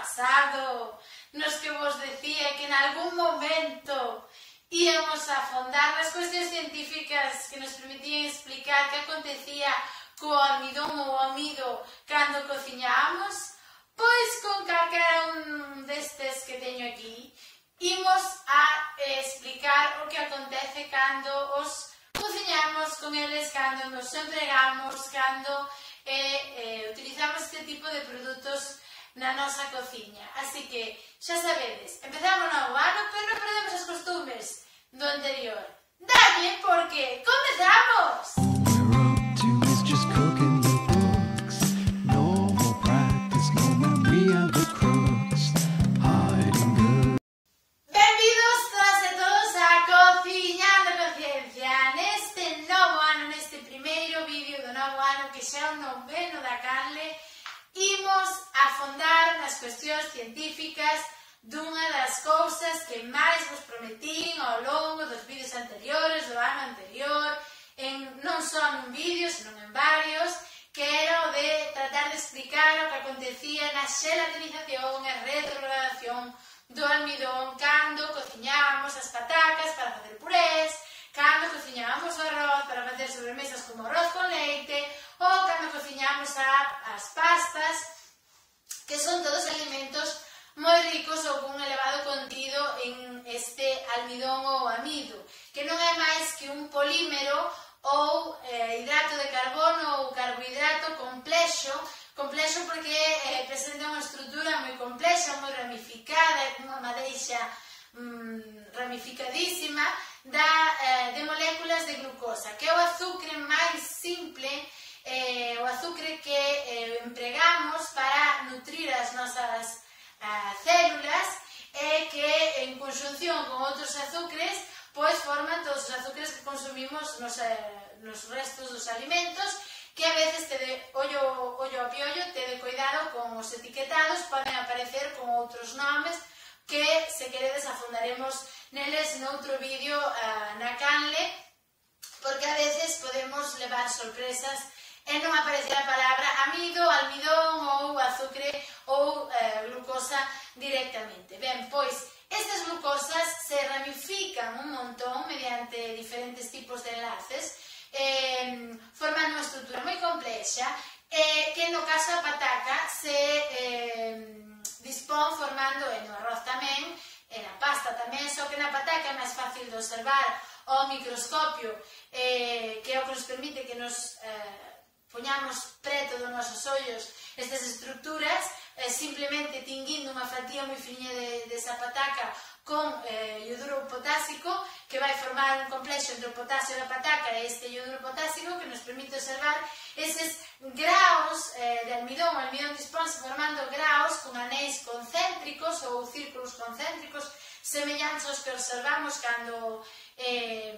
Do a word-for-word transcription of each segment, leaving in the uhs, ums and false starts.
pasado, nos que vos decía que en algún momento íamos a afondar nas cuestións científicas que nos permitían explicar que acontecía co almidón ou amido cando cociñábamos, pois con calquera un destes que teño aquí, imos a explicar o que acontece cando os cociñamos con eles, cando nos empregamos, cando eh, eh, utilizamos este tipo de produtos na nosa cociña. Así que, xa sabedes, empezamos no ano, pero non perdemos as costumes do anterior. Dalle, porque comezamos! Benvidos todas e todos a Cociñando Conciencia. Neste novo ano, neste primeiro vídeo do novo ano, que xa é o noveno da canle, imos afondar nas cuestións científicas dunha das cousas que máis vos prometín ao longo dos vídeos anteriores, do ano anterior, en, non só nun vídeo, senón en varios, que era o de tratar de explicar o que acontecía na xelatinización e retrogradación do almidón cando cociñábamos as patacas para facer purés, cando cociñábamos o arroz para facer sobremesas como arroz con leite, ou cando cociñábamos a, as pastas, que son todos alimentos moi ricos ou con un elevado contido en este almidón ou amido, que non é máis que un polímero ou eh, hidrato de carbono ou carbohidrato complexo, complexo porque eh, presenta unha estrutura moi complexa, moi ramificada, unha madeixa mm, ramificadísima da, eh, de moléculas de glucosa, que é o azúcar máis simple, eh, o azúcar que eh, empregamos para nutrir as nosas eh, células e que en conxunción con outros azúcares pois forman todos os azúcares que consumimos nos, eh, nos restos dos alimentos, que a veces te de ollo, ollo a piollo, te de cuidado con os etiquetados, poden aparecer con outros nomes que, se queredes, afundaremos neles noutro vídeo uh, na canle, porque a veces podemos levar sorpresas e non aparecer a palabra amido, almidón ou azúcar ou eh, glucosa directamente. Ben, pois, estas glucosas se ramifican un montón mediante diferentes tipos de enlaces, eh, forman unha estrutura moi complexa, e eh, que no caso da pataca se eh, dispón formando en o arroz tamén, e na pasta tamén, só que na pataca é máis fácil de observar ao microscopio, eh, que é o que nos permite que nos eh, poñamos preto dos nosos ollos estas estruturas, eh, simplemente tinguindo unha fatía moi fiña de, de esa pataca con eh, ioduro potásico, que vai formar un complexo entre o potasio da pataca e este ioduro potásico que nos permite observar eses graos eh, de almidón. O almidón dispónse formando graos con anéis concéntricos ou círculos concéntricos semellantes aos que observamos cando eh,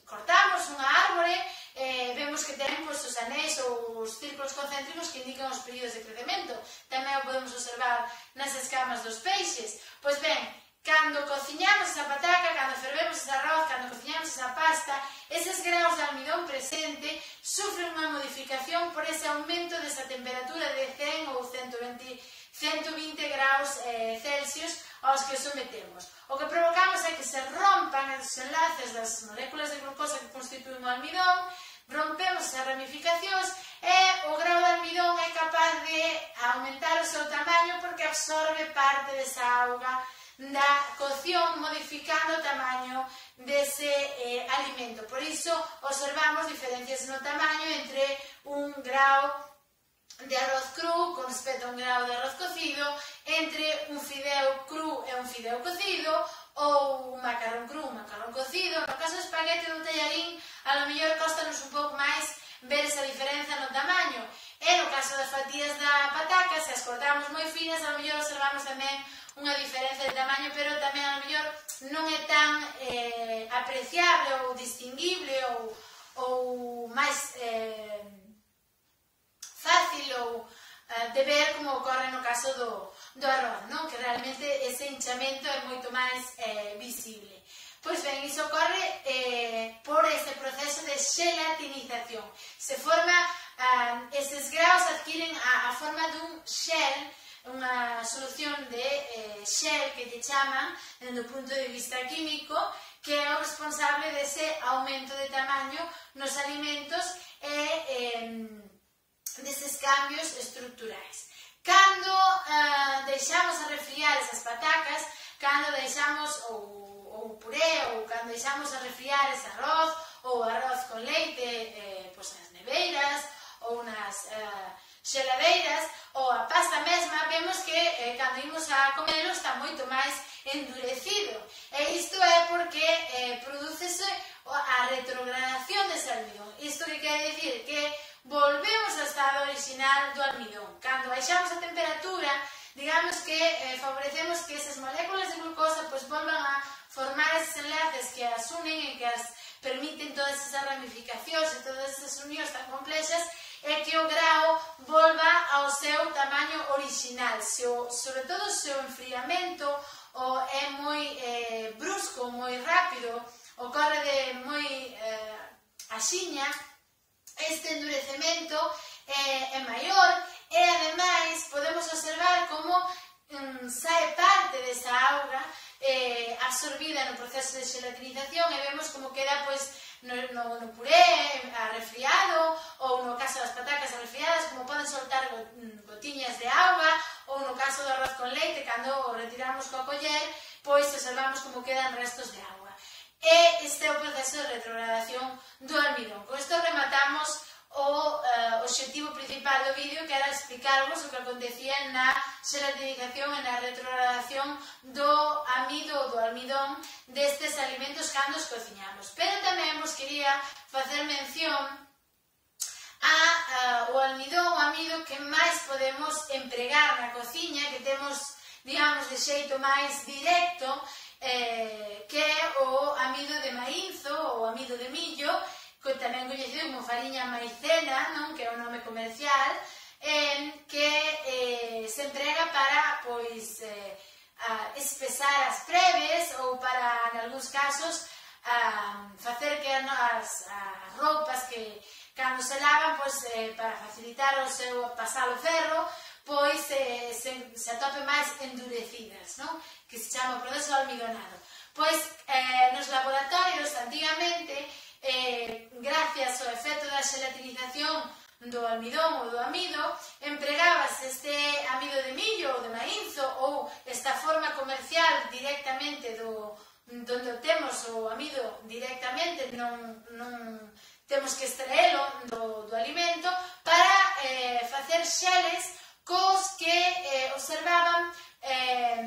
cortamos unha árbore, eh, vemos que ten pues, os anéis ou os círculos concéntricos que indican os períodos de crecemento. Tamén o podemos observar nas escamas dos peixes. Pois ben, cando cociñamos esa pataca, cando fervemos ese arroz, cando cociñamos esa pasta, eses graus de almidón presente sufren unha modificación por ese aumento desa temperatura de cen ou ciento vinte graus eh, Celsius aos que sometemos. O que provocamos é que se rompan os enlaces das moléculas de glucosa que constituen o almidón, rompemos as ramificacións e o grau de almidón é capaz de aumentar o seu tamaño porque absorbe parte desa auga da cocción, modificando o tamaño dese eh, alimento. Por iso observamos diferencias no tamaño entre un grau de arroz cru con respecto a un grau de arroz cocido, entre un fideo cru e un fideo cocido, ou un macarrón cru, un macarrón cocido. No caso do espaguete do tallarín, a lo mellor costanos un pouco máis ver esa diferenza no tamaño. E no caso das fatías da pataca, se as cortamos moi finas, a lo mellor observamos tamén unha diferenza de tamaño, pero tamén a lo mellor non é tan eh, apreciable ou distinguible ou, ou máis eh, fácil ou uh, de ver como ocorre no caso do, do arroz, non? Que realmente ese hinchamento é moito máis eh, visible. Pois ben, iso ocorre eh, por ese proceso de xelatinización. Se forma, uh, eses graus adquiren a, a forma dun xel, unha solución de eh, Shell que lle chaman, dende o punto de vista químico, que é o responsable dese aumento de tamaño nos alimentos e eh, deses cambios estructurais. Cando eh, deixamos a refriar esas patacas, cando deixamos o, o puré ou cando deixamos a refriar ese arroz ou arroz con leite eh, pois nas neveiras ou nas eh, xeladeiras ou a pasta mesma, vemos que eh, cando imos a comelo está moito máis endurecido. E isto é porque eh, prodúcese a retrogradación dese almidón. Isto que quere dicir que volvemos ao estado original do almidón. Cando baixamos a temperatura, digamos que eh, favorecemos que esas moléculas de glucosa pues, volvan a formar esos enlaces que as unen e que as permiten todas esas ramificacións e todas esas unións tan complexas e que o grao volva ao seu tamaño original. Se o, sobre todo se o enfriamento o é moi eh, brusco, moi rápido, ocorre de moi eh, axiña, este endurecemento é, é maior e, ademais, podemos observar como mm, sae parte desa auga eh, absorbida no proceso de gelatinización e vemos como queda pois, no, no, no puré arrefriado ou no caso das patacas arrefriadas, como poden soltar gotiñas de auga ou no caso do arroz con leite, cando o retiramos coa coller, pois observamos como quedan restos de auga. E este é o proceso de retrogradación do almidón. Con isto rematamos o uh, obxectivo principal do vídeo, que era explicarvos o que acontecía na gelatinización e na retrogradación do amido ou do almidón destes alimentos cando os cociñamos. Pero tamén vos quería facer mención a uh, o almidón, o amido que máis podemos empregar na cociña, que temos, digamos, de xeito máis directo, Eh, que é o amido de maízo ou amido de millo, que tamén coñecido como fariña maicena, non? Que é o nome comercial, eh, que eh, se emprega para pois, eh, a espesar as preves ou para, en algúns casos, a facer que as, as roupas que cando se lavan, pois, eh, para facilitar o seu pasar o ferro, pois eh, se, se atope máis endurecidas, non? Que se chama o proceso almidonado. Pois eh, nos laboratorios, antigamente, eh, gracias ao efecto da gelatinización do almidón ou do amido, empregabas este amido de millo ou de maízo ou esta forma comercial directamente do donde temos o amido directamente, non, non temos que extraelo do, do alimento para eh, facer xeles cos que eh, observaban eh,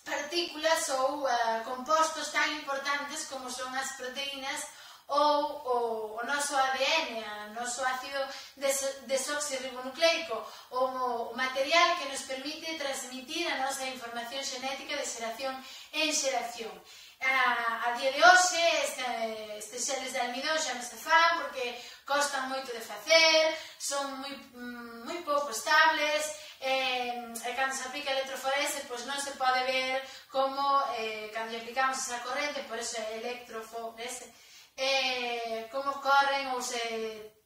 partículas ou uh, compostos tan importantes como son as proteínas ou o, o noso A D N, o noso ácido des desoxirribonucleico, o, o material que nos permite transmitir a nosa información xenética de xeración en xeración. A, a día de hoxe, este, estes xeles de almidón xa non se fan porque costan moito de facer, son moi, moi pouco estables, e, e cando se aplica electroforese, pois non se pode ver como eh, cando aplicamos esa corrente, por eso é electroforese, eh, como corren ou se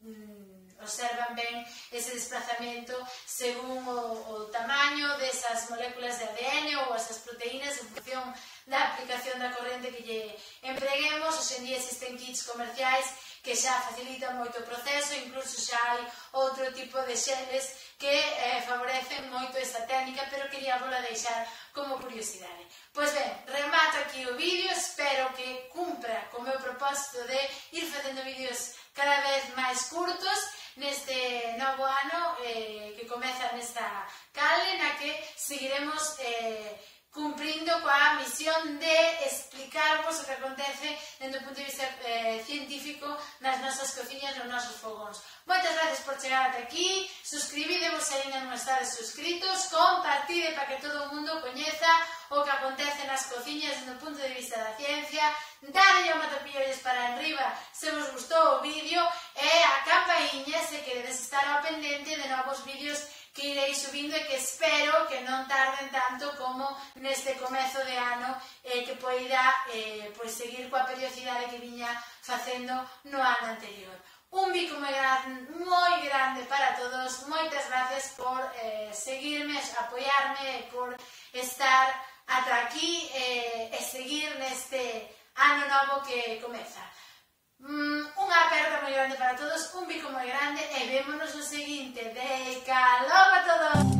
mm, observan ben ese desplazamento según o, o tamaño desas moléculas de A D N ou esas proteínas en función da aplicación da corrente que lle empreguemos. Hoxe en día existen kits comerciais que xa facilitan moito o proceso, incluso xa hai outro tipo de xeles que eh, favorecen moito esta técnica, pero quería vola deixar como curiosidade. Pois ben, remato aquí o vídeo, espero que cumpra co meu propósito de ir facendo vídeos cada vez máis curtos neste novo ano eh, que comeza nesta canle, na que seguiremos eh, cumprindo coa misión de explicarvos o que acontece dende o punto de vista eh, científico nas nosas cociñas, nos nosos fogóns. Moitas gracias por chegar ata aquí, suscribidevos se ainda non estades suscritos, compartide para que todo o mundo coñeza o que acontece nas cociñas dende o punto de vista da ciencia, dadelle ao matapillos para arriba se vos gustou o vídeo e a campaíña se queredes estar ao pendente de novos vídeos que irei subindo e que espero que non tarden tanto como neste comezo de ano eh, que poida eh, pois seguir coa periodicidade que viña facendo no ano anterior. Un bico moi grande, moi grande para todos, moitas gracias por eh, seguirme, máis apoiarme, por estar ata aquí e, e seguir neste ano novo que comeza. Mm, unha aperta moi grande para todos, un bico moi grande e vémonos no seguinte. Beca, logo a todos!